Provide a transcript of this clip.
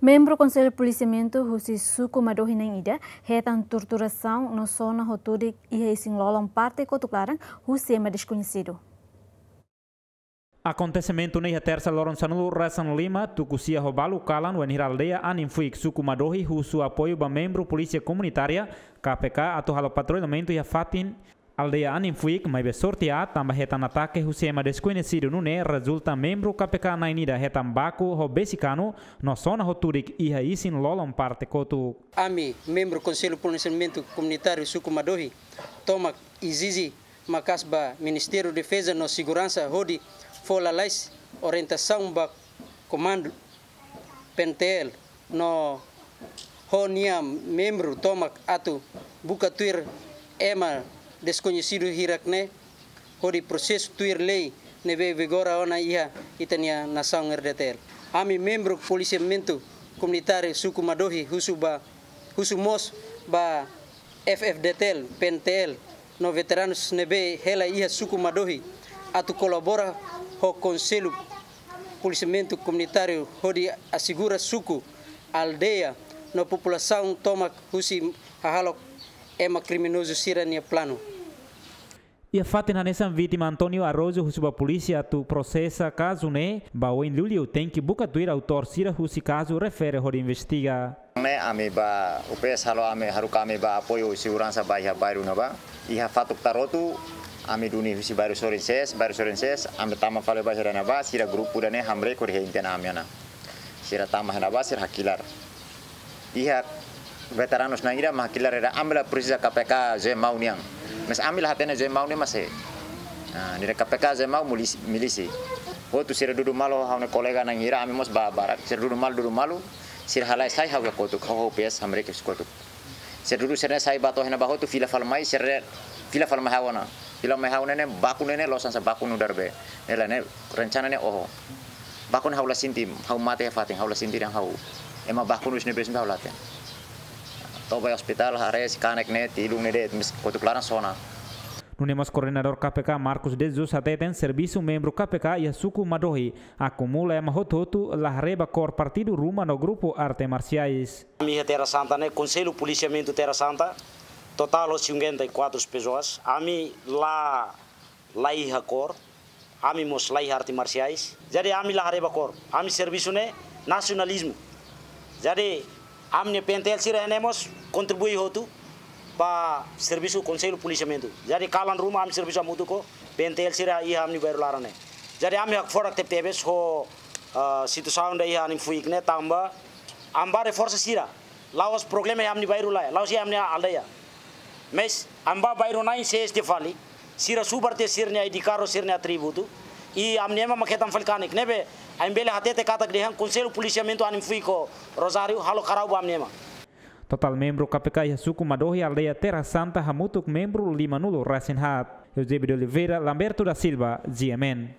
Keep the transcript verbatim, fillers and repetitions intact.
Membru Konsellu Polisiamentu husi suku Madohi na'in ida hetan torturasaun no sona ho tudik iha isin-lolon parte kotuk laran husi ema deskoñesidu. Akontesimentu ne'e iha Tersa loron sanulu resin lima, tuku sia ho balu kalan, wainhira aldeia Anin Fuik, suku Madohi, husu apoiu ba membru Polísia Komunitária, K P K, atu halo patrullamentu iha fatin aldeia Anin Fuik, maibé sorte aat tanba hetan atake husi ema deskoñesidu, nune'e rezulta membru K P K na'in ida hetan baku ho besi kanu no sona ho tudik iha isin-lolon parte kotuk. Ami membru Konsellu Polisiamentu Komunitáriu suku Madohi tomak ezije maka'as ba Ministériu Defeza no Seguransa hodi fó lalais orientasaun ba Komandu P N T L no ho nia membru tomak atu buka tuir ema deskoñesidu hirak ne'e hodi prosesu tuir lei ne'ebé vigora ona iha ita-nia nasaun R D T L. Ami membru Polisiamentu Komunitáriu suku Madohi husu ba, husu mós ba F F D T L, P N T L no veteranus ne'ebé hela iha suku Madohi atu kolabora ho Konsellu Polisiamentu Komunitáriu hodi asegura suku, aldeia no populasaun tomak husi hahalok ema kriminozu sira-nia planu. Iha fatin hanesan, vítima António Araújo husu ba polísia atu prosesa kazu ne'e ba oin liuliu, tenke buka tuir autór sira husi kazu refere hodi investiga. Ne'e ami ba U P S halo, ami haruka ami ba apoiu seguransa ba iha bairru ne'ebá. Iha fatuk Tarotu, ami duni husi bairru Sorin seis, bairru Sorin seis, ami tama fali ba iha ne'ebá, sira grupu ida-ne'e hamriik hodi hein tiha ona ami ona. Sira tama iha ne'ebá, sira hakilar. Iha veteranus na'in ida mak hakilar, ida ami la presiza K P K Zemau nian. Mas ami la hatene Zemau nian, mas eh. Ah, ne'e K P K Zemau milísia, milísia. Hotu sira dudu malu, ha'u-nia kolega na'in ida, ami mós ba barak. Sira dudu malu, dudu malu. Sira halai sai ha'u iha kotuk, ha'u, ha'u U P S hamriik husi kotuk. Sira dudu sira-ne'e sai ba to'o iha ne'ebá hotu, fila fali mai, sira fila fali mai ha'u ona. Fila mai ha'u ne'e ne'e, baku ne'e ne'e, loos hanesan baku nu'udar be. Ne'e la, ne'e rencana ne'e oho. Baku ne'e ha'u la sente, ha'u mate iha fatin, ha'u la sente dehan ha'u. Ema baku nu'udar ne'e be sente ha'u la hatene. To'o ba ospitál, haree sei kanek ne'e, tilun ne'e de'it, mas kotuk laran sona. Nune'e mós koordenadór K P K, Marcos de Jesus, hateten servisu membru K P K iha suku Madohi akumula ema hotu-hotu la haree ba kór partidu ruma no grupu arte marsiais. Ami iha Terra Santa ne'e, Konsellu Polisiamentu Terra Santa, totál cinquenta e quatro pessoas. Ami la, la iha kór, ami mós la iha arte marsiais. Jadi ami la haree ba kór. Ami servisu ne'e nasionalizmu. Jadi ami-nia P N T L sira ne'e mós kontribui hotu ba servisu Konsellu Polisiamentu. Jadi kalan ruma ami servisu hamutuk ho P N T L sira iha ami-nia bairru laran ne'e. Jadi ami hakfodak tebetebes ho, ah, situasaun ida iha Anin Fuik ne'e tanba ami ba reforsa sira. La'ós problema iha ami-nia bairru lae, la'ós iha ami-nia aldeia. Mas ami ba bairru na'in seis tiha fali, sira subar tiha sira-nia I D card, sira-nia atributu. I ami-nia ema mak hetan fali kanek. Ne'ebé ami bele hatete katak dehan Konsellu Polisiamentu Anin Fuik ho Rosário halo karau ba ami-nia ema. Totál membru K P K iha suku Madohi, aldeia Terra Santa, hamutuk membru limanulu resin haat. Eusébio de Oliveira, Lamberto da Silva, G M N.